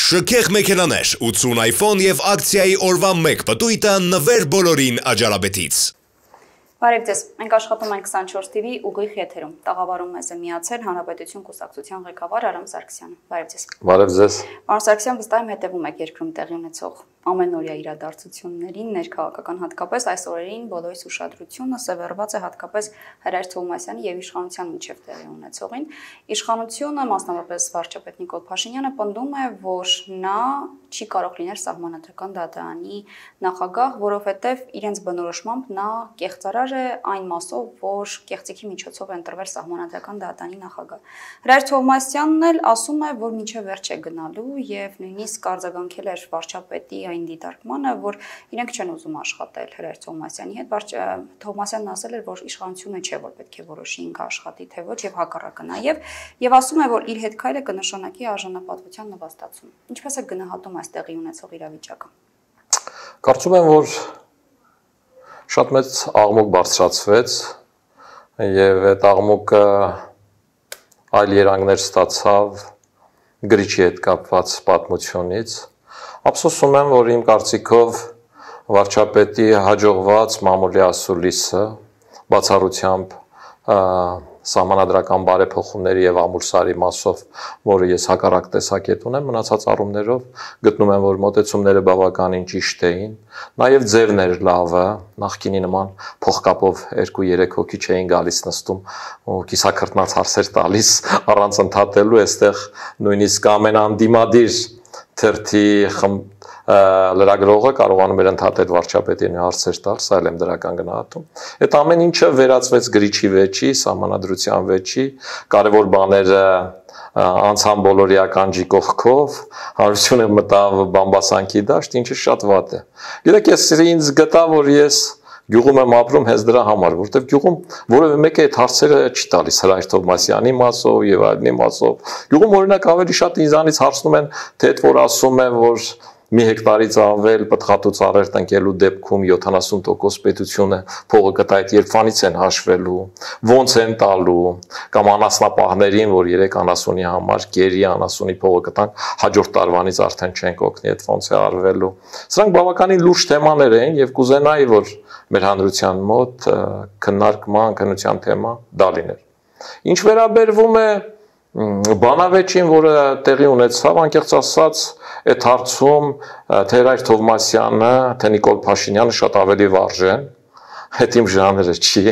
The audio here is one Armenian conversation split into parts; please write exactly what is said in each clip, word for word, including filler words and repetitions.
Շքեղ մեքենաներ, ութսուն iPhone և ակցիայի օրվա մեկ պտույտը նվեր բոլորին Աջարաբեդից։ Բարև ձեզ, մենք աշխատում ենք քսանչորս T V ուղիղ եթերում։ Տաղավարում մեզ է միացել Հանրապետություն կուսակցության ղեկավար Արամ Սարգսյանը։ Բարև ձեզ։ Բարև ձեզ։ Պարոն Սարգսյան, վստահ եմ հետևում եք երկրում տեղի ունեցող ամենօրյա իրադարձություններին, ներքաղաքական հատկապես այս օրերին բոլորիս ուշադրությունը սևեռված է հատկապես Հրայր Թովմասյանի եւ իշխանության միջև տեղի ունեցողին։ Իշխանությունը, մասնավորապես վարչապետ Նիկոլ Փաշինյանը, պնդում է, որ նա չի կարող լինել Սահմանադրական դատարանի նախագահ, որովհետև իրենց բնորոշմամբ նա կեղծարար է այն մասով, որ կեղծիքի միջոցով է ընտրվել Սահմանադրական դատարանի նախագահ։ Հրայր Թովմասյանն էլ ասում է, որ մինչև վերջ է գնալու եւ նույնիսկ արձագանքել էր վարչապետի այն դիտարկմանը, որ իրենք չեն ուզում աշխատել Հրայր Թովմասյանի հետ։ Թովմասյանն ասել էր, որ իշխանությունը չէ, որ պետք է որոշի ինքը աշխատի թե ոչ եւ հակառակը նաեւ, եւ ասում է, որ իր հետ քայլը կնշանակի արժանապատվության նվաստացում։ Ինչպես է գնահատում այս տեղի ունեցող իրավիճակը։ Կարծում եմ, որ շատ մեծ աղմուկ բարձրացվեց եւ այդ աղմուկը այլ երանգներ ստացավ գրիչի հետ կապված պատմությունից։ Ափսոսում եմ, որ իմ կարծիքով վարչապետի հաջողված մամուլի ասուլիսը բացառությամբ սահմանադրական բարեփոխումների եւ ամուլսարի մասով, որը ես հակառակ տեսակետ ունեմ, մնացած առումներով գտնում եմ, որ մոտեցումները բավականին ճիշտ էին, նաեւ ձևն էր լավը, նախկինի նման փողկապով երկու երեք հոգի չէին գալիս նստում ու կիսակրտնած հարցեր տալիս առանց ընդհատելու, այստեղ նույնիսկ ամենաանդիմադիր թերթի լրագրողը կարողանում էր ընդհատել վարչապետին հարցեր տալ, սա էլ եմ դրական գնահատում։ Այդ ամեն ինչը վերածվեց գրիչի վեճի, սահմանադրության վեճի, կարևոր բաները անցան բոլորի ականջի կողքով, հանրությունը մտավ բամբասանքի դաշտ, ինչը շատ վատ է։ Գիտեք, ես ինձ գտա, որ ես գյուղում եմ ապրում հենց դրա համար, որովհետև գյուղում որևէ մեկը այդ հարցերը չի տալիս Հրայր Թովմասյանի մասով եւ այլնի մասով։ Գյուղում օրինակ ավելի շատ ինձանից հարցնում են, թե այդ որ ասում են, որ մի հեկտարից ավել պտղատու ծառեր տնկելու դեպքում յոթանասուն տոկոս պետությունը փողը կտա, այդ երբանից են հաշվելու, ոնց են տալու, կամ անասնապահներին, որ երեք անասունի համար գերի անասունի փողը կտանք, հաջորդ տարվանից արդեն չենք օգնի, այդ ոնց է արվելու։ Սրանք բավականին լուրջ թեմաներ են եւ կուզենայի, որ մեր հանրության մոտ քննարկման, քննության թեմա դա լիներ։ Ինչ վերաբերվում է բանավեճին, որը տեղի ունեցավ, անկեղծ ասած, այդ հարցում թե Հրայր Թովմասյանը, թե Նիկոլ Փաշինյանը շատ ավելի վարժեն, հետ իմ ժանրը չի,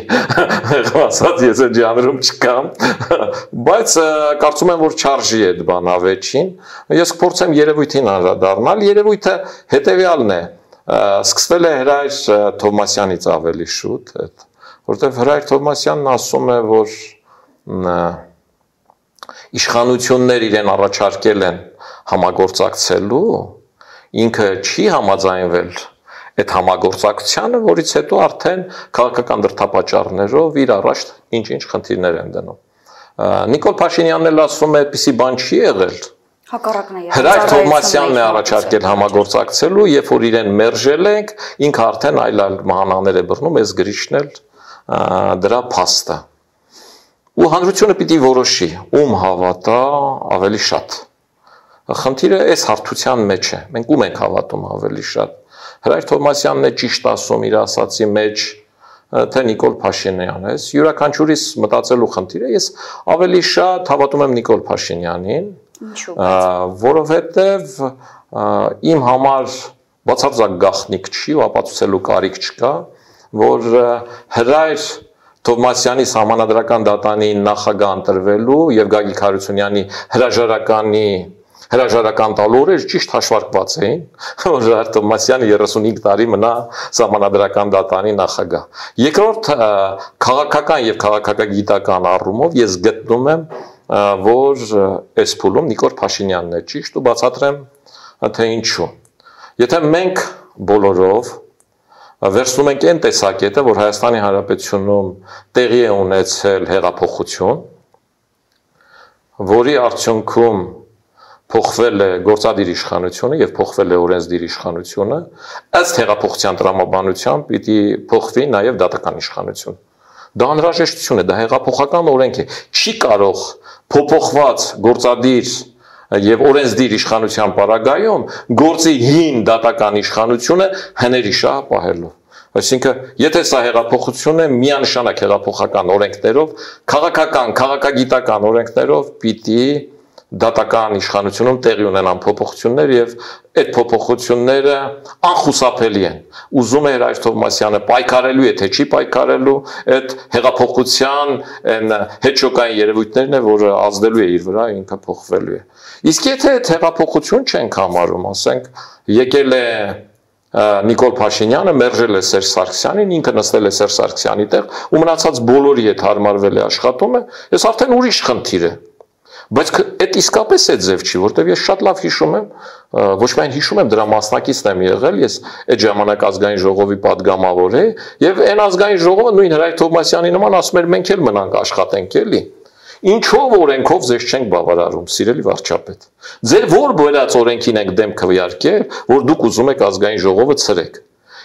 ասած ես այդ ժանրում չկամ, բայց կարծում եմ, որ չարժի այդ բանավեճին, ես կփորձեմ երևույթին անդրադառնալ, երևույթը հետևյալն է, սկսվել է Հրայր Թովմասյանից ավելի շուտ, որովհետև Հրայր Թովմասյանն ասում է, որ իշխանություններ իրեն առաջարկել են համագործակցելու, ինքը չի համաձայնվել այդ համագործակցությանը, որից հետո արդեն քաղաքական դրդապատճառներով իր առաջ ինչ-ինչ խնդիրներ են դնում։ Նիկոլ Փաշինյանն էլ ասում է, այդպիսի բան չի եղել։ Հակառակն է։ Հրայր Թովմասյանն է առաջարկել համագործակցելու, երբ որ իրեն մերժել ենք, ինքը արդեն այլ-այլ մահանաներ է բռնում, այս գրիչն էլ դրա փաստը։ Ու հանրությունը պիտի որոշի, ում հավատա ավելի շատ։ Խնդիրը այս հարթության մեջ է, մենք ում ենք հավատում ավելի շատ։ Հրայր Թովմասյանն է ճիշտ ասում իր ասացի մեջ, թե Նիկոլ Փաշինյանն է, յուրաքանչյուրիս մտածելու խնդիր է, ես ավելի շատ հավատում եմ Նիկոլ Փաշինյանին, որովհետև իմ համար բացարձակ գաղտնիք չի ու ապացուցելու կարիք չկա, որ Հրայր Թովմասյանի Սահմանադրական դատարանի նախագահ ընտրվելու եւ Գագիկ Հարությունյանի հրաժարականի հրաժարական տալու օրեր ճիշտ հաշվարկված էին, որ Հրայր Թովմասյանը երեսունհինգ տարի մնա Սահմանադրական դատարանի նախագահ։ Երկրորդ քաղաքական եւ քաղաքագիտական առումով ես գտնում եմ, որ այս փուլում Նիկոլ Փաշինյանն է ճիշտ ու բացատրեմ թե ինչու։ Եթե մենք բոլորով վերցնում ենք այն տեսակետը, որ Հայաստանի Հանրապետությունում տեղի է ունեցել հեղափոխություն, որի արդյունքում փոխվել է գործադիր իշխանությունը եւ փոխվել է օրենսդիր իշխանությունը, ըստ հեղափոխության տրամաբանության պիտի փոխվի նաեւ դատական իշխանություն։ Դա անհրաժեշտություն է, դա հեղափոխական օրենք է։ Չի կարող փոփոխված գործադիր եւ օրենսդիր իշխանության պարագայում գործի հին դատական իշխանությունը հների շահ պահելու։ Այսինքն, եթե սա հեղափոխություն է, միանշանակ հեղափոխական օրենքներով, քաղաքական, քաղաքագիտական օրենքներով պիտի դատական իշխանությունում տեղի ունենան փոփոխություններ եւ այդ փոփոխությունները անխուսափելի են։ Ուզում է Հրայր Թովմասյանը պայքարելու է, թե չի պայքարելու, այդ հեղափոխության այն հետճոկային երևույթներն է, որը ազդելու է իր վրա, ինքը փոխվելու է։ Իսկ եթե այդ հեղափոխություն չենք համարում, ասենք, եկել է Նիկոլ Փաշինյանը, մերժել է Սերժ Սարգսյանին, ինքը նստել է Սերժ Սարգսյանի տեղ ու մնացած բոլորի հետ հարմարվել է աշխատում է, ես արդեն ուրիշ խնդիր է։ Բայց այդ իսկապես է ձև չի, որտեղ ես շատ լավ հիշում եմ, ոչ միայն հիշում եմ, դրա մասնակիցն եմ եղել, ես այդ ժամանակ ազգային ժողովի падգամավոր էի, եւ այն ազգային ժողովը նույն Հրայր Թովմասյանի նման ասում էր մենք էլ մնանք աշխատենք էլի։ Ինչով օրենքով ձեզ չենք բավարարում, սիրելի վարչապետ։ Ձեր որ բերած օրենքին եք դեմ քվեարկել, որ դուք ուզում եք ազգային ժողովը ցրեք։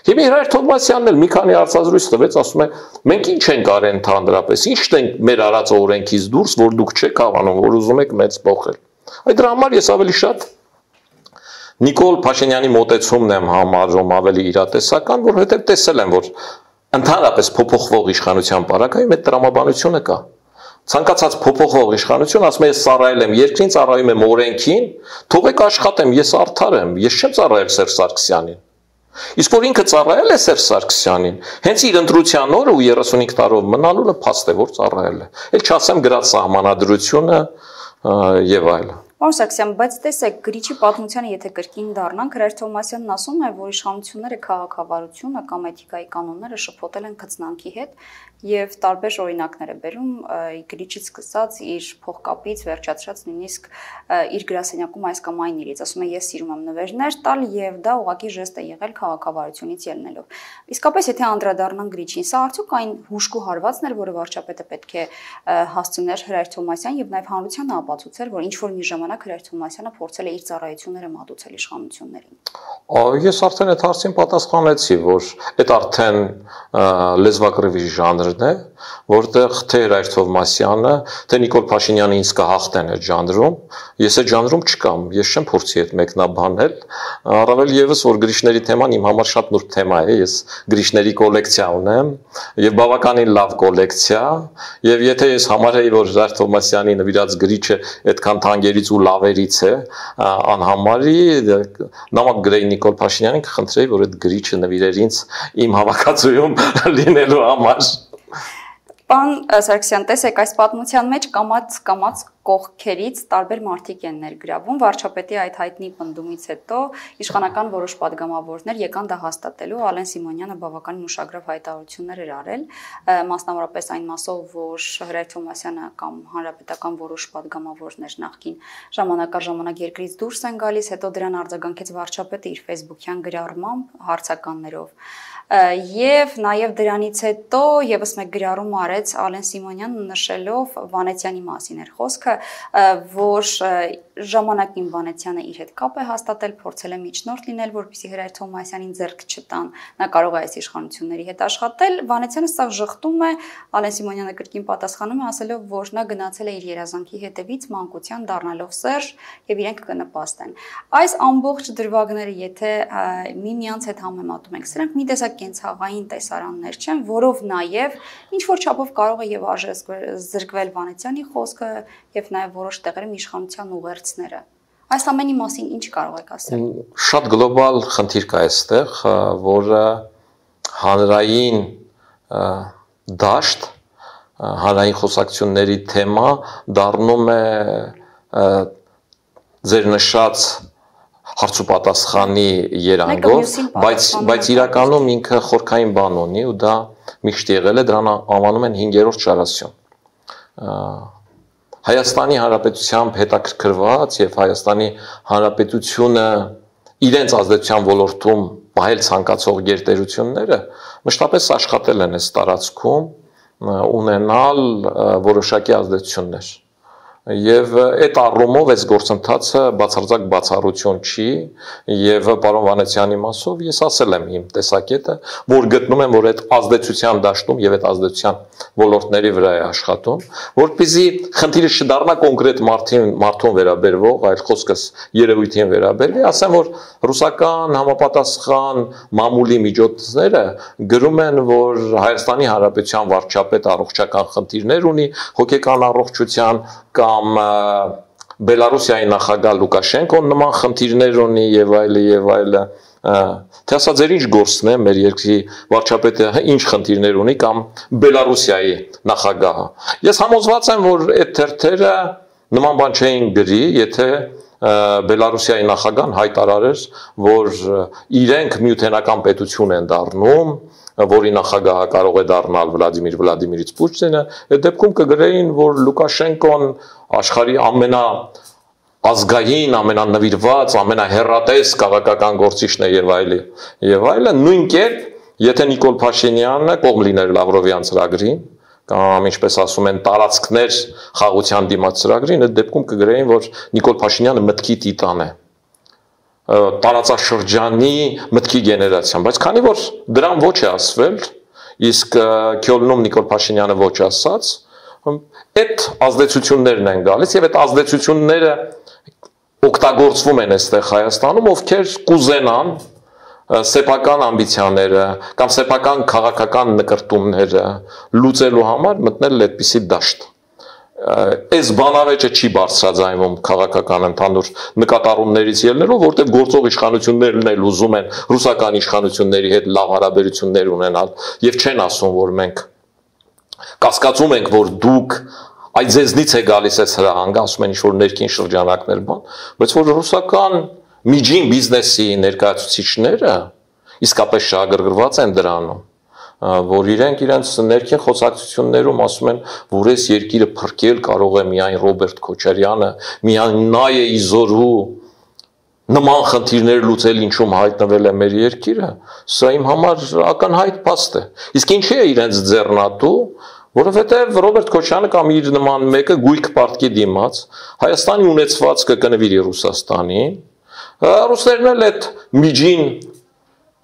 Հիմա Հրայր Թովմասյանն էլ մի քանի հարցազրույց տվեց, ասում է, մենք ինչ ենք արել ընդհանրապես, ինչն ենք մեր արած օրենքից դուրս, որ դուք չեք հավանում, որ ուզում եք մեծ փոխել։ Այդ դրա համար ես ավելի շատ Նիկոլ Փաշինյանի մոտեցումն եմ համարում ավելի իրատեսական, որովհետև տեսել եմ, որ ընդհանրապես փոփոխվող իշխանության պարագայում այդ տրամաբանությունը կա։ Ցանկացած փոփոխող իշխանություն ասում է ես ծառայել եմ երկրին, ծառայում եմ օրենքին, թողեք աշխատեմ, ես արդար եմ, ես չեմ ծառայել Սերժ Սարգսյանին։ Իսկ որ ինքը ծառայել է Սերժ Սարգսյանին, հենց իր ընտրության օրը ու երեսունհինգ տարով մնալու փաստ է, որ ծառայել է։ Էլ չասեմ գրած սահմանադրությունը եւ այլն։ Պարոն Սարգսյան, բայց տեսեք, գրիչի պատմությանը եթե կրկին դառնանք, Հրայր Թովմասյանն ասում է, որ իշխանությունները քաղաքավարությունը կամ էթիկայի կանոնները շփոթել են քծնանքի հետ եւ տարբեր օրինակներ է բերում գրիչից սկսած իր փողկապից վերջացրած նույնիսկ իր գրասենյակում այս կամ այն իրից, ասում է ես սիրում եմ նվերներ տալ եւ դա ուղղակի ժեստ է եղել քաղաքավարությունից ելնելով։ Իսկապես եթե անդրադառնանք գրիչին, սա արդյոք այն հուժկու հարվածն էր, որը վարչապետը պետք է հասցներ Հրայր Թովմասյան եւ նաեւ հանրությանը ապացուցեր, որ ինչ որ մի ժամանակ Հրայր Թովմասյանը փորձել է իր ծառայությունները մատուցել իշխանություններին։ Ես արդեն այդ հարցին պատասխանեցի, որ այդ արդեն լեզվակռիվի ժանրն է, որտեղ թե Հրայր Թովմասյանը, թե Նիկոլ Փաշինյանը ինձ կհաղթեն այդ ժանրում, ես այդ ժանրում չկամ, ես չեմ փորձի այդ մեկնաբանել, առավել եւս որ գրիչների թեման իմ համար շատ նուրբ թեմա է, ես գրիչների կոլեկցիա ունեմ եւ բավականին լավ կոլեկցիա, եւ եթե ես համարեի, որ Հրայր Թովմասյանի նվիրած գրիչը այդքան թանկերից ու լավերից է, անհամարի նամակ գրեի Նիկոլ Փաշինյանին, կխնդրեի, որ այդ գրիչը նվիրեր ինձ իմ հավաքածուում լինելու համար։ Պարոն Սարգսյան, տեսեք, այս պատմության մեջ կամած կամած կողքերից տարբեր մարդիկ են ներգրավում, վարչապետի այդ հայտնի պնդումից հետո իշխանական որոշ падգամավորներ եկան դա հաստատելու, Ալեն Սիմոնյանը բավականին ուշագրավ հայտարարություններ էր արել, մասնավորապես այն մասով, որ Հրայր Թովմասյանը կամ հանրապետական որոշ падգամավորներ նախկին ժամանակ առ ժամանակ երկրից դուրս են գալիս, հետո դրան արձագանքեց վարչապետը իր ֆեյսբուքյան գրառմամբ հարցականներով։ Եվ նաև դրանից հետո եւս մեկ գրառում արեց Ալեն Սիմոնյանը նշելով Վանեցյանի մասին էր խոսքը, որ ժամանակին Վանեցյանը իր հետ կապ է հաստատել, փորձել է միջնորդ լինել, որպեսզի Հրայր Թովմասյանին ձեռք չտան, նա կարող է այս իշխանությունների հետ աշխատել, Վանեցյանը սա ժխտում է, Ալեն Սիմոնյանը կրկին պատասխանում է ասելով, որ նա գնացել է իր երազանքի հետևից մանկության դառնալով Սերժ եւ իրենք կնպաստեն։ Այս ամբողջ դրվագները եթե միմյանց հետ համեմատում ենք, սրանք մի տեսակ կենցաղային տեսարաններ չեն, որով նաև ինչ որ չափով կարող է եւ արժե զրկվել Վանեցյանի խոսքը եւ նաեւ որոշ տեղերում իշխանության ուղերձները։ Այս ամենի մասին ինչ կարող եք ասել։ Շատ գլոբալ խնդիր կա այստեղ, որը հանրային դաշտ, հանրային խոսակցությունների թեմա դառնում է ձեր նշած հարց ու պատասխանի երանգով, բայց բայց իրականում ինքը խորքային բան ունի ու դա միշտ եղել է, դրան անվանում են հինգերորդ շարասյուն։ Հայաստանի Հանրապետությամբ հետաքրքրված եւ Հայաստանի Հանրապետությունը իրենց ազդեցության ոլորտում պահել ցանկացող գերտերությունները մշտապես աշխատել են այս տարածքում ունենալ որոշակի ազդեցություններ։ Եվ այդ առումով այս գործընթացը բացարձակ բացառություն չի եւ պարոն Վանեցյանի մասով ես ասել եմ իմ տեսակետը, որ գտնում եմ, որ այդ ազդեցության դաշտում եւ այդ ազդեցության ոլորտների վրա է աշխատում, որպեսզի խնդիրը չդառնա կոնկրետ մարդին, մարդուն վերաբերվող, այլ խոսքս երևույթին վերաբերվի, ասեմ, որ ռուսական համապատասխան մամուլի միջոցները գրում են, որ Հայաստանի Հանրապետության վարչապետ առողջական խնդիրներ ունի, հոգեկան առողջության կամ Բելարուսիայի նախագահ Լուկաշենկոն նման խնդիրներ ունի եւ այլը եւ այլը, թե ասա ձեր ինչ գործն է մեր երկրի վարչապետը ինչ խնդիրներ ունի կամ Բելարուսիայի նախագահը։ Ես համոզված եմ, որ այդ թերթերը նման բան չէին գրի, եթե Բելարուսիայի նախագահան հայտարարեր, որ իրենք միութենական պետություն են դառնում, որի նախագահը կարող է դառնալ Վլադիմիր Վլադիմիրիչ Պուտինը, այդ դեպքում կգրեին, որ Լուկաշենկոն աշխարհի ամենա ազգային, ամենանվիրված, ամենահեռատես քաղաքական գործիչն է եւ այլը, եւ այլը, նույն կերպ, եթե Նիկոլ Փաշինյանը կողմ լիներ Լավրովյան ծրագրին, կամ ինչպես ասում են տարածքներ խաղաղության դիմաց ծրագրին, այդ դեպքում կգրեին, որ Նիկոլ Փաշինյանը մտքի տիտան է, տարածաշրջանի մտքի գեներացիան, բայց քանի որ դրան ոչ է ասվել, իսկ Քյոլնում Նիկոլ Փաշինյանը ոչ ասաց, այդ ազդեցություններն են գալիս եւ այդ ազդեցությունները օգտագործվում են այստեղ Հայաստանում, ովքեր կուզենան սեփական ամբիցիաները կամ սեփական քաղաքական նկրտումները լուծելու համար մտնել այդպիսի դաշտ։ Այս բանավեճը չի բարձրաձայնվում քաղաքական ընդհանուր նկատառումներից ելնելով, որտեղ գործող իշխանություններն էլ ուզում են ռուսական իշխանությունների հետ լավ հարաբերություններ ունենալ եւ չեն ասում, որ մենք կասկածում ենք, որ դուք այդ ձեզնից է գալիս այս հրահանգը, ասում են ինչ-որ ներքին շրջանակներ բան, բայց որ ռուսական միջին բիզնեսի ներկայացուցիչները իսկապես շահագրգռված են դրանում, որ իրենք իրենց ներքին խոսակցություններում ասում են, որ այս երկիրը փրկել կարող է միայն Ռոբերտ Քոչարյանը, միայն նա է իզորու նման խնդիրներ լուծել, ինչում հայտնվել է մեր երկիրը, սա իմ համար ակնհայտ փաստ է։ Իսկ ինչի է իրենց ձեռնատու, որովհետև Ռոբերտ Քոչարյանը կամ իր նման մեկը գույք պարտքի դիմաց Հայաստանի ունեցվածքը կնվիրի Ռուսաստանին, ռուսներն էլ այդ միջին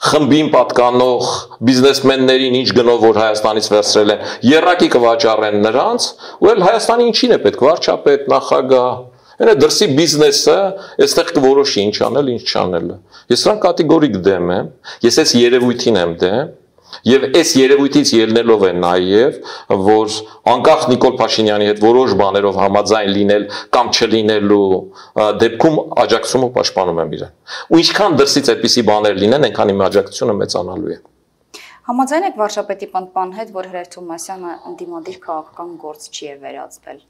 խմբին պատկանող բիզնեսմեններին ինչ գնով որ Հայաստանից վերցրել են, եռակի կվաճառեն նրանց, ու էլ Հայաստանի ինչին է պետք, վարչապետ, նախագահ, այնա դրսի բիզնեսը այստեղ կորոշի ինչ անել, ինչ չանելը։ Ես սրան կատեգորիկ դեմ եմ, ես այս երևույթին եմ դեմ, եւ այս երևույթից ելնելով է նաեւ, որ անկախ Նիկոլ Փաշինյանի հետ որոշ բաներով համաձայն լինել կամ չլինելու դեպքում աջակցումը պաշտպանում եմ իրեն։ Ու ինչքան դրսից այդպիսի բաներ լինեն, այնքան իմ աջակցությունը մեծանալու է։ Համաձայն եք վարչապետի պնդման հետ, որ Հրեր Թովմասյանը ընդդիմադիր քաղաքական գործիչ է վերածվել։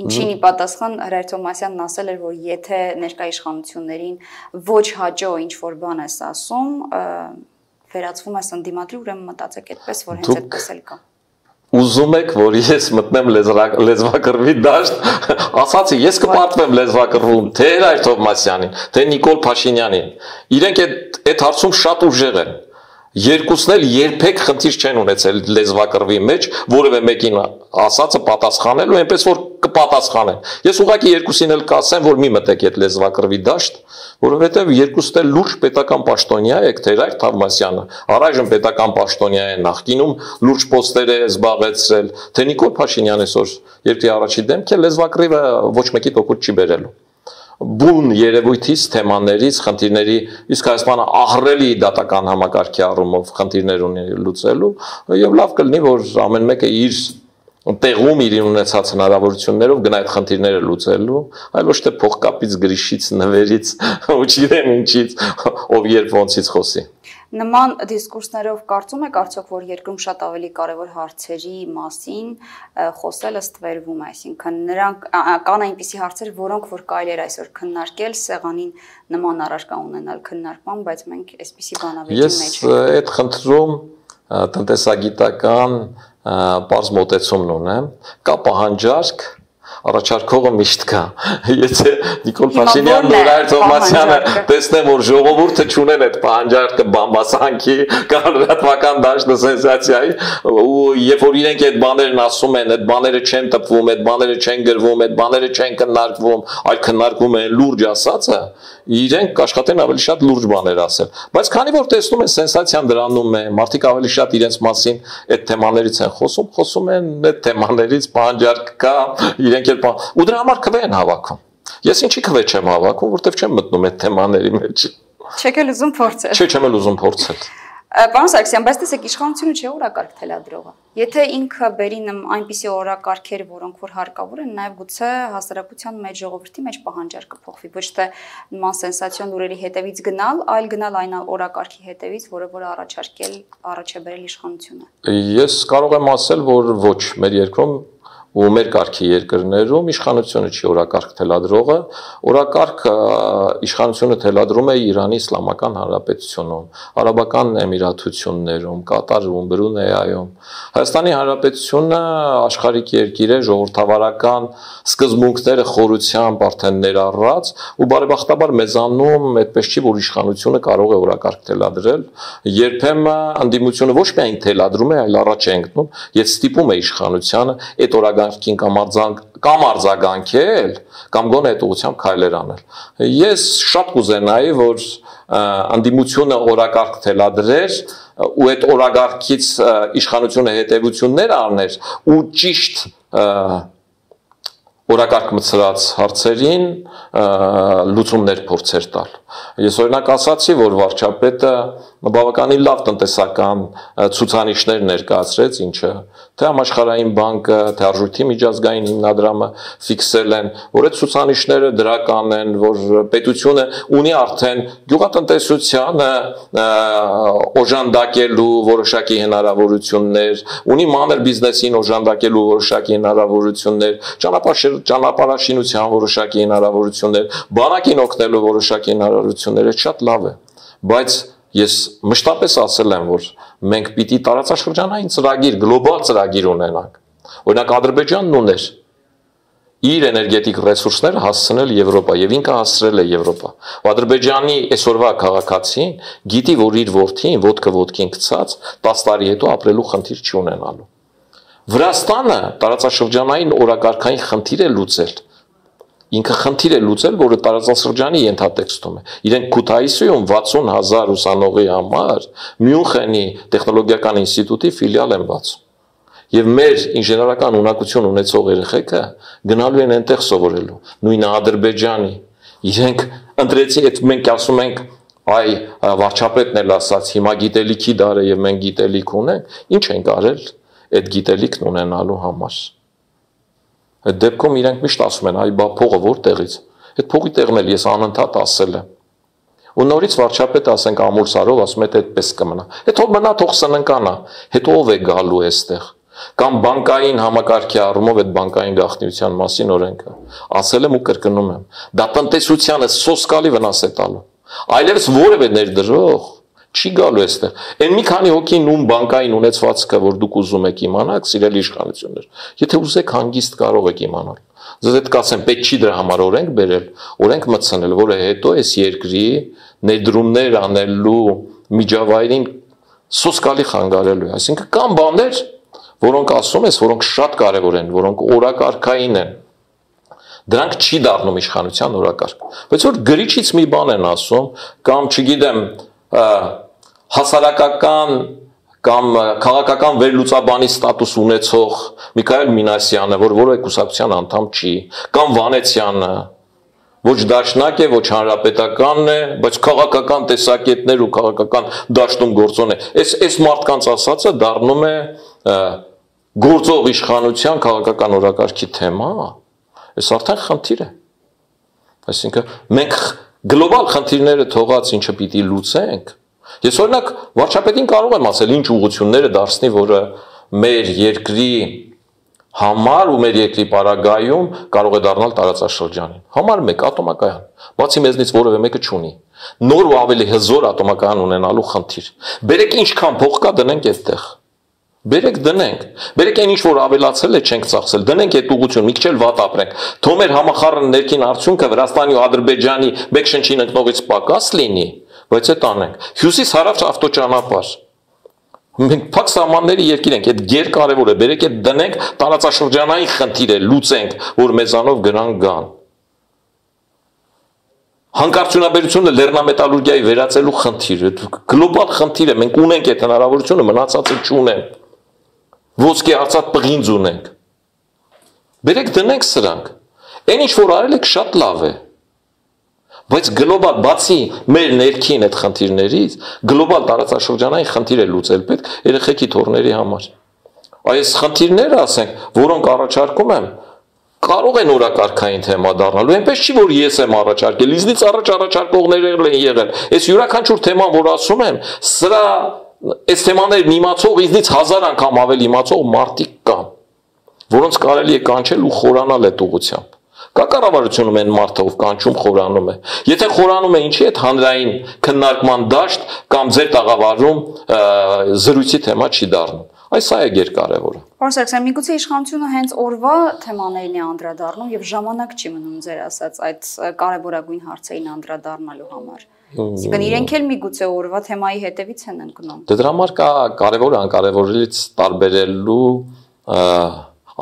Ինչին ի պատասխան Հրեր Թովմասյանն ասել էր, որ եթե ներկայ իշխանություններին ոչ հաջող ինչ որ բան ես ասում, վերածվում ես ընդդիմադիր, ուրեմն մտածեք այդպես, որ հենց այդպես էլ կա։ Ուզում եք, որ ես մտնեմ լեզվակռվի դաշտ, ասացի, ես կպարտվեմ լեզվակռվում, թե Հրեր Թովմասյանին, թե Նիկոլ Փաշինյանին։ Իրենք այդ հարցում շատ ուժեղ են։ Երկուսն էլ երբեք խնդիր չեն ունեցել լեզվակռվի մեջ, որևէ մեկին ասածը պատասխանելու, այնպես որ կպատասխանեն։ Ես ուղղակի երկուսին էլ կասեմ, որ մի մտեք այդ լեզվակռվի դաշտ, որովհետև երկուսն էլ լուրջ պետական պաշտոնյա եք, թե Հրեր Թովմասյանը, առայժմ պետական պաշտոնյա է, նախկինում լուրջ պոստեր է զբաղեցրել, թե Նիկոլ Փաշինյանը այսօր երկրի առաջի դեմք է, լեզվակռիվը ոչ մեկի տոկուտ չի բերելու։ Բուն երևույթից, թեմաներից, խնդիրների, իսկ Հայաստանը ահռելի դատական համակարգի առումով խնդիրներ ունի լուծելու, եւ լավ կլինի, որ ամեն մեկը իր տեղում իր ունեցած հնարավորություններով գնա այդ խնդիրները լուծելու, այլ ոչ թե փողկապից, գրիշից, նվերից, ու չիրեմ ինչից, ով երբ ոնցից խոսի։ Նման դիսկուրսներով կարծում եք արդյոք, որ երկրում շատ ավելի կարևոր հարցերի մասին խոսելը ստվերվում է, այսինքն նրանք կան այնպիսի հարցեր, որոնք որ կարելի էր այսօր քննարկել, սեղանին նման առարկա ունենալ քննարկման, բայց մենք այսպիսի բանավեճի մեջ ենք։ Ես այդ խնդրում տնտեսագիտական պարզ մոտեցումն ունեմ, կա պահանջարկ առաջարկողը միշտ կա։ Եթե Նիկոլ Փաշինյանն ու Ռայր Թովմասյանը տեսնեն, որ ժողովուրդը չունեն այդ պահանջարկը բամբասանքի կամ լրատվական դաշտը սենսացիայի, ու երբ որ իրենք այդ բաներն ասում են, այդ բաները չեն տպվում, այդ բաները չեն գրվում, այդ բաները չեն քննարկվում, այլ քննարկվում են լուրջ ասածը, իրենք կաշխատեն ավելի շատ լուրջ բաներ ասել։ Բայց քանի որ տեսնում են սենսացիան դրանում է, մարդիկ ավելի շատ իրենց մասին այդ թեմաներից են խոսում, խոսում են այդ թեմաներից, պահանջարկ կա, իրենք էլ ու դրա համար քվե են հավաքում։ Ես ինչի քվե չեմ հավաքում, որտեվ չեմ մտնում այդ թեմաների մեջ։ Չեք էլ ուզում փորձել։ Չէ, չեմ էլ ուզում փորձել։ Պարոն Սարգսյան, բայց տեսեք, իշխանությունը չէ օրակարգ թելադրողը։ Եթե ինքը բերի այնպիսի օրակարգեր, որոնք որ հարկավոր են, նաև գուցե հասարակության մեջ, ժողովրդի մեջ պահանջարկը փոխվի, ոչ թե նման սենսացիոն լուրերի հետևից գնալ, այլ գնալ այն օրակարգի հետևից, որը որ առաջարկել, առաջ է բերել իշխանությունը։ Ես կարող եմ ասել, որ ոչ, մեր երկրում ու մեր կարգի երկրներում իշխանությունը չի օրակարգ թելադրողը, օրակարգ իշխանությունը թելադրում է Իրանի Իսլամական Հանրապետությունում, Արաբական Էմիրաթություններում, Կատարում, Բրունեյում։ Հայաստանի Հանրապետությունը աշխարհիկ երկիր է, ժողովրդավարական սկզբունքները խորությամբ արդեն ներառած, ու բարեբախտաբար մեզանում այդպես չի, որ իշխանությունը կարող է օրակարգ թելադրել, երբեմն ընդդիմությունը ոչ միայն թելադրում է, այլ առաջ է ընկնում եւ ստիպում է իշխանությանը այդ օրակարգ կամ կամ արձագանքել կամ գոնե այդ ուղղությամբ քայլեր անել։ Ես շատ կուզենայի, որ ընդդիմությունը օրակարգ թելադրեր ու այդ օրակարգից իշխանությունը հետևություններ առներ ու ճիշտ օրակարգ մցրած հարցերին լուծումներ փորձեր տալ։ Ես օրինակ ասացի, որ վարչապետը բավականին լավ տնտեսական ցուցանիշներ ներկայացրեց, ինչը թե համաշխարհային բանկը, թե Արժույթի միջազգային հիմնադրամը ֆիքսել են, որ այդ ցուցանիշները դրական են, որ պետությունը ունի արդեն գյուղատնտեսությանը օժանդակելու որոշակի հնարավորություններ, ունի մանր բիզնեսին օժանդակելու որոշակի հնարավորություններ, ճանապարհ ճանապարհաշինության որոշակի հնարավորություններ, բանակին օգնելու որոշակի հնարավորություններ, շատ լավ է, բայց ես մշտապես ասել եմ, որ մենք պիտի տարածաշրջանային ծրագիր, գլոբալ ծրագիր ունենանք։ Օրինակ Ադրբեջանն ուներ իր էներգետիկ ռեսուրսները հասցնել Եվրոպա եւ ինքը հասցրել է Եվրոպա։ Ադրբեջանի այսօրվա քաղաքացին գիտի, որ իր որդին ոտքը ոտքին գցած տասը տարի հետո ապրելու խնդիր չի ունենալու։ Վրաստանը տարածաշրջանային օրակարգային խնդիր է լուծել։ Ինքը խնդիր է լուծել, որը տարածաշրջանի ենթատեքստում է։ Իրենք Քութայիսում վաթսուն հազար ուսանողի համար Մյունխենի տեխնոլոգիական ինստիտուտի ֆիլիալ են բացում։ Եվ մեր ինժեներական ունակություն ունեցող երեխեքը գնալու են այնտեղ սովորելու։ Նույնը Ադրբեջանի։ Իրենք ընտրեցի, այդ մենք ասում ենք, այ վարչապետն էլ ասաց, հիմա գիտելիքի դար է եւ մենք գիտելիք ունենք, ինչ ենք արել այդ գիտելիքն ունենալու համար։ Այդ դեպքում իրենք միշտ ասում են, այ բա փողը որտեղից։ Այդ փողի տեղն էլ ես անընդհատ ասել եմ։ Ու նորից վարչապետը ասենք ամուր սարով ասում է, թե այդպես կմնա։ Հետո մնա թող սննկանա, հետո ով է գալու այստեղ։ Կամ բանկային համակարգի առումով այդ բանկային գաղտնիության մասին օրենքը ասել եմ ու կրկնում եմ։ Դա տնտեսությանը սոսկալի վնաս է տալու։ Այլևս որևէ ներդրող չի գալու այստեղ։ Այն մի քանի հոգին ում բանկային ունեցվածքը, որ դուք ուզում եք իմանալ, սիրելի իշխանություններ, եթե ուզեք հանգիստ կարող եք իմանալ։ Ձեզ հետ կասեմ, պետք չի դրա համար օրենք բերել, օրենք մտցնել, որը հետո այս երկրի ներդրումներ անելու միջավայրին սոսկալի խանգարելու է։ Այսինքն կան բաներ, որոնք ասում ես, որոնք շատ կարևոր են, որոնք օրակարգային են։ Դրանք չի դառնում իշխանության օրակարգ։ Բայց որ գրիչից մի բան են ասում, կամ չգիտեմ, հասարակական կամ քաղաքական վերլուծաբանի ստատուս ունեցող Միքայել Մինասյանը, որ որևէ կուսակցության անդամ չի, կամ Վանեցյանը, ոչ դաշնակ է, ոչ հանրապետականն է, բայց քաղաքական տեսակետներ ու քաղաքական դաշտում գործոն է։ Այս այս մարդկանց ասածը դառնում է գործող իշխանության քաղաքական օրակարգի թեմա։ Այս արդեն խնդիր է։ Այսինքն մենք գլոբալ խնդիրները թողած ինչը պիտի լուծենք։ Ես օրինակ վարչապետին կարող եմ ասել ինչ ուղղությունները դարձնի, որը մեր երկրի համար ու մեր երկրի պարագայում կարող է դառնալ տարածաշրջանին։ Համար մեկ ատոմակայան, բացի մեզնից որևէ մեկը չունի։ Նոր ու ավելի հզոր ատոմակայան ունենալու խնդիր։ Բերեք ինչքան փող կա դնենք այդտեղ։ Բերեք դնենք։ Բերեք այն ինչ որ ավելացել է չենք ծախսել, դնենք այդ ուղղություն, մի քիչ էլ վատ ապրենք։ Թող մեր համախառն ներքին արդյունքը Վրաստանի ու Ադրբեջանի բեկշնչին ընկնողից պակաս լինի, բայց այդ անենք։ Հյուսիս-հարավ ավտոճանապարհ։ Մենք փակ սահմանների երկիր ենք, այդ գերկարևոր է։ Բերեք այդ դնենք, տարածաշրջանային խնդիր է, լուծենք, որ մեզանով գնան գան։ Հանքարդյունաբերությունը լեռնամետալուրգիայի վերածելու խնդիր է, գլոբալ խնդիր է, մենք ունենք այդ հնարավորությունը, մնացածը չունեն։ Ոսկե արծաթ պղինձ ունենք։ Բերեք դնենք սրանք։ Այն ինչ որ արել եք շատ լավ է։ Բայց գլոբալ բացի մեր ներքին այդ խնդիրներից, գլոբալ տարածաշրջանային խնդիր է լուծել պետք երեխեքի թոռների համար։ Այս խնդիրները, ասենք, որոնք առաջարկում եմ, կարող են օրակարգային թեմա դառնալու, այնպես չի որ ես եմ առաջարկել, իզնից առաջ առաջարկողներ են եղել։ Այս յուրաքանչյուր թեման, որ ասում եմ, սրա այս թեմաներն իմացող իզնից հազար անգամ ավելի իմացող մարդիկ կան, որոնց կարելի է կանչել ու խորանալ այդ ուղղությամբ։ Կա կառավարությունում այն մարդը, ով կանչում խորանում է։ Եթե խորանում է, ինչի՞ այդ հանրային քննարկման դաշտ կամ ձեր տաղավարում զրույցի թեմա չի դառնում։ Այս սա է գերկարևորը։ Պարոն Սարգսյան, միգուցե իշխանությունը հենց օրվա թեմաներին է անդրադառնում եւ ժամանակ չի մնում ձեր ասած այդ կարևորագույն հարցերին անդրադառնալու համար։ Իսկ իրենք էլ միգուցե օրվա թեմայի հետևից են ընկնում։ Դրա համար կա կարևոր անկարևորից տարբերելու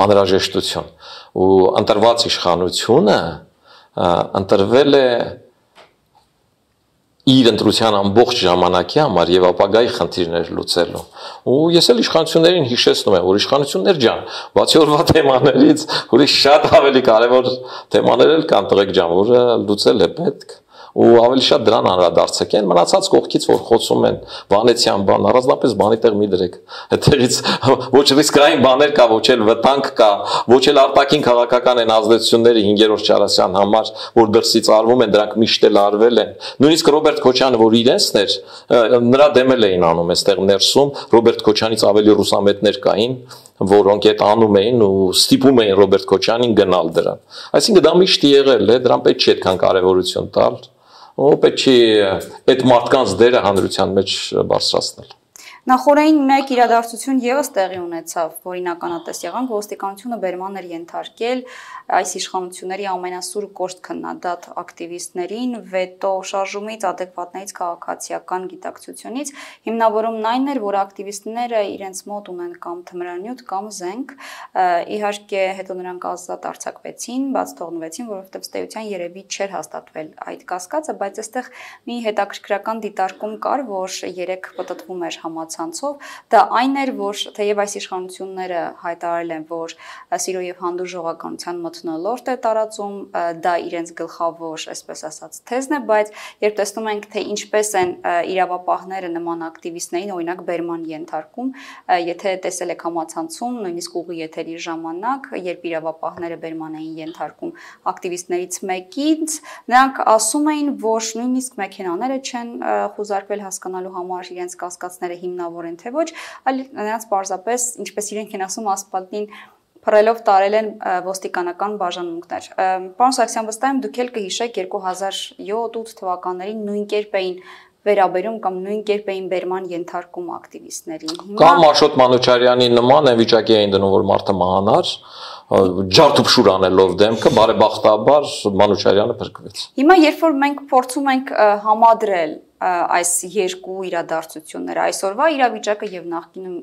անհրաժեշտություն ու ընտրված իշխանությունը ընտրվել է իր ընտրության ամբողջ ժամանակի համար եւ ապագայի խնդիրներ լուծելու։ Ու ես էլ իշխանություններին հիշեցնում եմ, որ իշխանություններ ջան, բացի օրվա թեմաներից, ուրիշ շատ ավելի կարևոր թեմաներ էլ կան, տղեկ ջան, որը լուծել է պետք։ Ու ավելի շատ դրան անդրադարձեք են մնացած կողքից որ խոսում են Վանեցյան բան առանձնապես բանի տեղ մի դրեք այդտեղից ոչ ռիսկային բաներ կա ոչ էլ վտանգ կա ոչ էլ արտաքին քաղաքական են ազդեցությունները հինգերորդ Չարասյան համար որ դրսից արվում են դրանք միշտ էլ արվել են նույնիսկ Ռոբերտ Քոչյանը որ իրենցն էր նրա դեմել էին անում այստեղ ներսում Ռոբերտ Քոչյանից ավելի ռուսամետներ կային որոնք այդ անում էին ու ստիպում էին Ռոբերտ Քոչյանին գնալ դրան այսինքն դա միշտ եղել է դրան պետք չի այդքան կարևորություն տալ ու պետք չի այդ մարդկանց դերը հանրության մեջ բարձրացնել Նախորդին մեկ իրադարձություն եւս տեղի ունեցավ, որին ականատես եղանք, ոստիկանությունը բերման էր ենթարկել այս իշխանությունների ամենասուր կոշտ քննադատ ակտիվիստներին վետո շարժումից, adekvatներից քաղաքացիական գիտակցությունից, հիմնավորումն այն էր, որ ակտիվիստները իրենց մոտ ունեն կամ թմրանյութ կամ զենք, իհարկե հետո նրանք ազատ արձակվեցին, բաց թողնվեցին, որովհետև ըստ երևի չէր հաստատվել այդ կասկածը, բայց այստեղ մի հետաքրքրական դիտարկում կար, որ երեք պտտվում էր համացանցով, դա այն էր, որ թեև այս իշխանությունները հայտարարել են, որ սիրո եւ հանդուրժողականության մթնոլորտ է տարածում, դա իրենց գլխավոր, այսպես ասած, թեզն է, բայց երբ տեսնում ենք, թե ինչպես են իրավապահները նման ակտիվիստներին, օրինակ բերման ենթարկում, եթե տեսել եք համացանցում, նույնիսկ ուղի եթերի ժամանակ, երբ իրավապահները բերման էին ենթարկում ակտիվիստներից մեկից, նրանք ասում էին, որ նույնիսկ մեքենաները չեն խուզարկվել հասկանալու համար իրենց կասկածները հիմնավոր են թե ոչ, այլ նրանց պարզապես, ինչպես իրենք են ասում, ասպալտին փռելով տարել են ոստիկանական բաժանմունքներ։ Պարոն Սարգսյան, վստահ եմ դուք էլ կհիշեք երկու հազար յոթ-ութ թվականներին նույն կերպ էին վերաբերում կամ նույն կերպ էին բերման ենթարկում ակտիվիստներին։ Կամ Աշոտ Մանուչարյանի նման այն վիճակի էին դնում, որ մարդը մահանար, ջարդուփշուր անելով դեմքը, բարեբախտաբար Մանուչարյանը փրկվեց։ Հիմա երբ որ մենք փորձում ենք համադրել այս երկու իրադարձությունները, այսօրվա իրավիճակը եւ նախկինում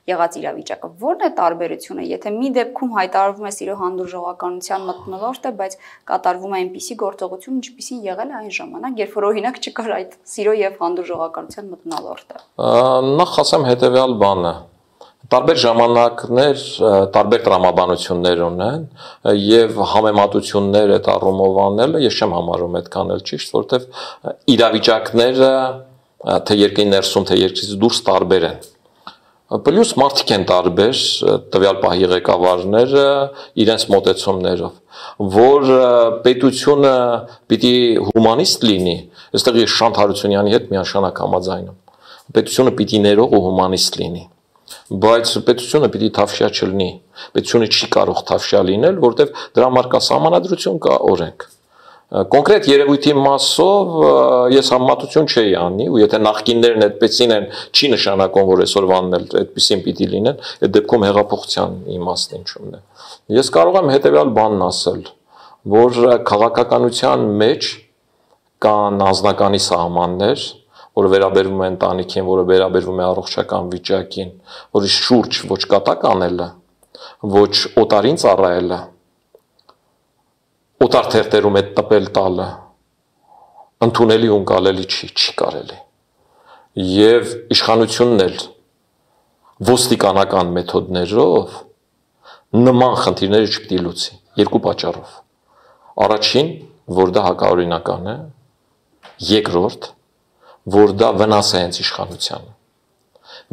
եղած իրավիճակը, ո՞րն է տարբերությունը, եթե մի դեպքում հայտարարվում է սիրո հանդուրժողականության մթնոլորտը, բայց կատարվում է այնպիսի գործողություն, ինչպիսին եղել է այն ժամանակ, երբ որ օրինակ չկար այդ սիրո եւ հանդուրժողականության մթնոլորտը։ Նախ ասեմ հետեւյալ բանը Տարբեր ժամանակներ, տարբեր տրամաբանություններ ունեն եւ համեմատություններ այդ առումով անելը ես չեմ համարում այդքան էլ ճիշտ, որովհետեւ իրավիճակները թե երկրի ներսում, թե երկրից դուրս տարբեր են։ Պլյուս մարդիկ են տարբեր, տվյալ պահի ղեկավարները իրենց մոտեցումներով, որ պետությունը պիտի հումանիստ լինի, այստեղ ես Շանթ Հարությունյանի հետ միանշանակ համաձայն եմ։ Պետությունը պիտի ներող ու հումանիստ լինի։ Բայց պետությունը պիտի թավշյա չլինի, պետությունը չի կարող թավշյա լինել, որտեղ դրա համար կա սահմանադրություն, կա օրենք։ Կոնկրետ երևույթի մասով ես համեմատություն չէի անի, ու եթե նախկիններն այդպեսին են, չի նշանակում, որ այսօրվանն էլ այդպեսին պիտի լինեն, այդ դեպքում հեղափոխության իմաստն ինչումն է։ Ես կարող եմ հետևյալ բանն ասել, որ քաղաքականության մեջ կան անձնականի սահմաններ, որը վերաբերվում է ընտանիքին, որը վերաբերվում է առողջական վիճակին, որի շուրջ ոչ կատակ անելը, ոչ օտարին ծառայելը, օտար թերթերում այդ տպել տալը ընդունելի ու ընկալելի չի, չի կարելի։ Եվ իշխանությունն էլ ոստիկանական մեթոդներով նման խնդիրները չպիտի լուծի, երկու պատճառով։ Առաջին, որ դա հակաօրինական է, երկրորդ, որ դա վնաս է հենց իշխանությանը։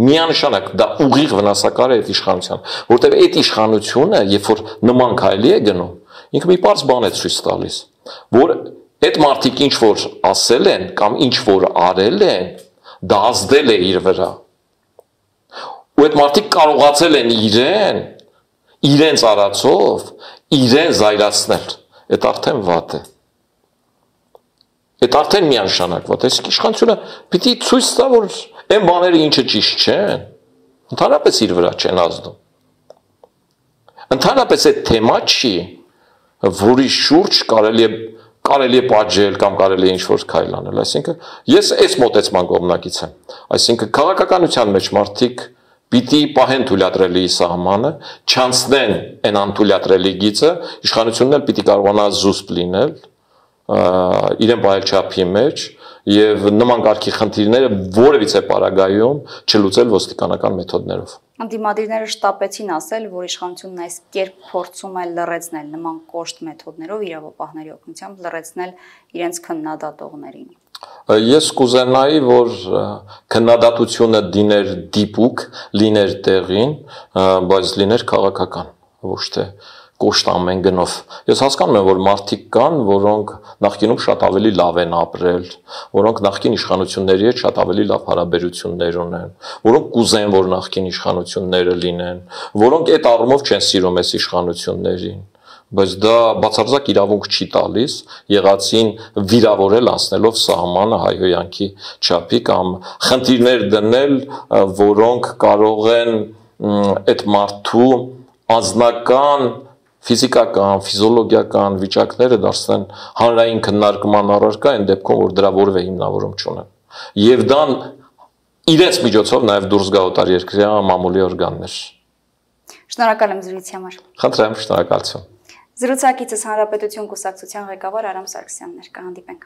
Միանշանակ դա ուղիղ վնասակար է այդ իշխանության, որտեղ այդ իշխանությունը, երբ որ նման քայլի է գնում, ինքը մի պարզ բան է ցույց տալիս, որ այդ մարդիկ ինչ որ ասել են կամ ինչ որ արել են, դա ազդել է իր վրա։ Ու այդ մարդիկ կարողացել են իրեն, իրենց արածով, իրեն զայրացնել։ Այդ արդեն վատ է։ Այդ արդեն միանշանակ վատ է։ Իսկ իշխանությունը պիտի ցույց տա, որ այն բաները ինչը ճիշտ չեն, ընդհանրապես իր վրա չեն ազդում։ Ընդհանրապես այդ թեմա չի, որի շուրջ կարելի է կարելի է պատժել կամ կարելի է ինչ-որ քայլ անել։ Այսինքն ես այս մոտեցման կողմնակից եմ։ Այսինքն քաղաքականության մեջ մարդիկ պիտի պահեն թույլատրելի սահմանը, չանցնեն այն անթույլատրելի գիծը, իշխանությունն էլ պիտի կարողանա զուսպ լինել իրեն պահել չափի մեջ եւ նման կարգի խնդիրները որևիցե պարագայում չլուծել ոստիկանական մեթոդներով։ Դիմադիրները շտապեցին ասել, որ իշխանությունն այս կերպ փորձում է լռեցնել նման կոշտ մեթոդներով իրավապահների օգնությամբ լռեցնել իրենց քննադատողներին։ Ես կուզենայի, որ քննադատությունը դիներ դիպուկ, լիներ տեղին, բայց լիներ քաղաքական, ոչ թե կոշտ ամեն գնով։ Ես հասկանում եմ, որ մարդիկ կան, որոնք նախկինում շատ ավելի լավ են ապրել, որոնք նախկին իշխանությունների հետ շատ ավելի լավ հարաբերություններ ունեն, որոնք կուզեն, որ նախկին իշխանությունները լինեն, որոնք այդ առումով չեն սիրում այս իշխանություններին, բայց դա բացարձակ իրավունք չի տալիս եղածին վիրավորել անցնելով սահմանը հայհոյանքի չափի կամ խնդիրներ դնել, որոնք կարող են այդ մարդու անձնական ֆիզիկական, ֆիզիոլոգիական վիճակները դարձնեն հանրային քննարկման առարկա այն դեպքում, որ դրա որևէ հիմնավորում չունեն։ Եվ դա իրենց միջոցով նաև դուրս գա օտարերկրյա մամուլի օրգաններ։ Շնորհակալ եմ զրույցի համար։ Խնդրեմ, շնորհակալություն։ Զրուցակիցս Հանրապետություն կուսակցության ղեկավար Արամ Սարգսյանն էր, կհանդիպենք։